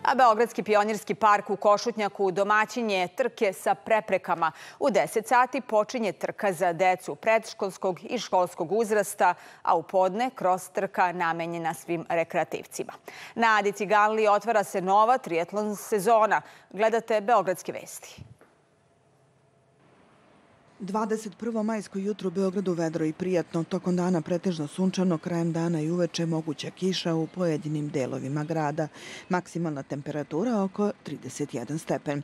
A Beogradski pionirski park u Košutnjaku domaćin je trke sa preprekama. U 10 sati počinje trka za decu predškolskog i školskog uzrasta, a u podne kroz trka namenjena svim rekreativcima. Na Adi Ciganliji otvara se nova triatlon sezona. Gledate Beogradske vesti. 21. majsko jutro u Beogradu vedro i prijatno. Tokom dana pretežno sunčano, krajem dana i uveče moguća kiša u pojedinim delovima grada. Maksimalna temperatura oko 31 stepen.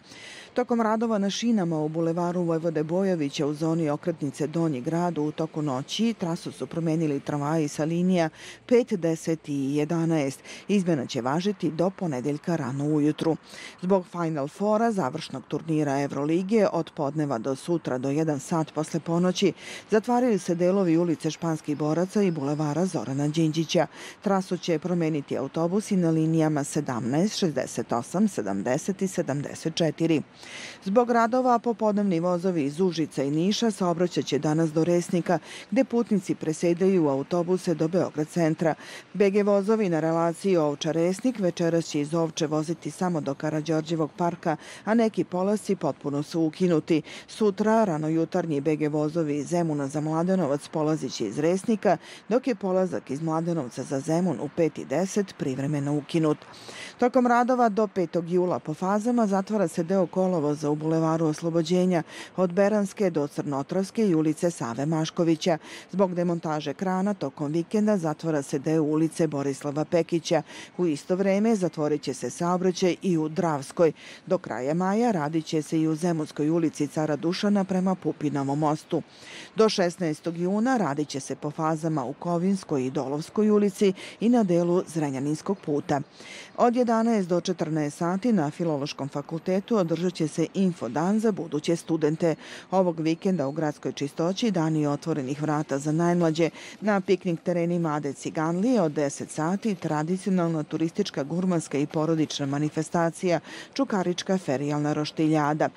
Tokom radova na šinama u bulevaru Vojvode Bojovića u zoni okretnice Donji grad u toku noći trasu su promenili tramvaji sa linija 5, 10 i 11. Izmena će važiti do ponedeljka rano ujutru. Zbog Final Fora, završnog turnira Evrolige, od podneva do sutra do 1 sat posle ponoći zatvaraju se delovi ulice Španskih boraca i bulevara Zorana Đinđića. Trasu će promeniti autobusi na linijama 17, 68, 70 i 74. Zbog radova popodnevni vozovi iz Užica i Niša saobraćaće danas do Resnika, gde putnici presedaju u autobuse do Beograd centra. BG vozovi na relaciji Ovča-Resnik večeras će iz Ovče voziti samo do Karađorđevog parka, a neki polasci potpuno su ukinuti. Sutra, rano jutarnji BG vozovi iz Zemuna za Mladenovac polaziće iz Resnika, dok je polazak iz Mladenovca za Zemun u 5:10 privremeno ukinut. Tokom radova do 5. jula po fazama zatvara se deo kolovoza u bulevaru Oslobođenja od Beranske do Crnotravske i ulice Save Maškovića. Zbog demontaže krana tokom vikenda zatvara se deo ulice Borislava Pekića. U isto vreme zatvorit će se saobraćaj i u Dravskoj. Do kraja maja radit će se i u Zemunskoj ulici Cara Dušana prema Pupinovom mostu. Do 16. juna radit će se po fazama u Kovinskoj i Dolovskoj ulici i na delu Zrenjaninskog puta. Od 11 do 14 sati na Filološkom fakultetu održat će se infodan za buduće studente. Ovog vikenda u gradskoj čistoći dani otvorenih vrata za najmlađe. Na piknik terenima Ade Ciganlije od 10 sati tradicionalna turistička, gurmanska i porodična manifestacija Čukarička ferijalna roštiljada.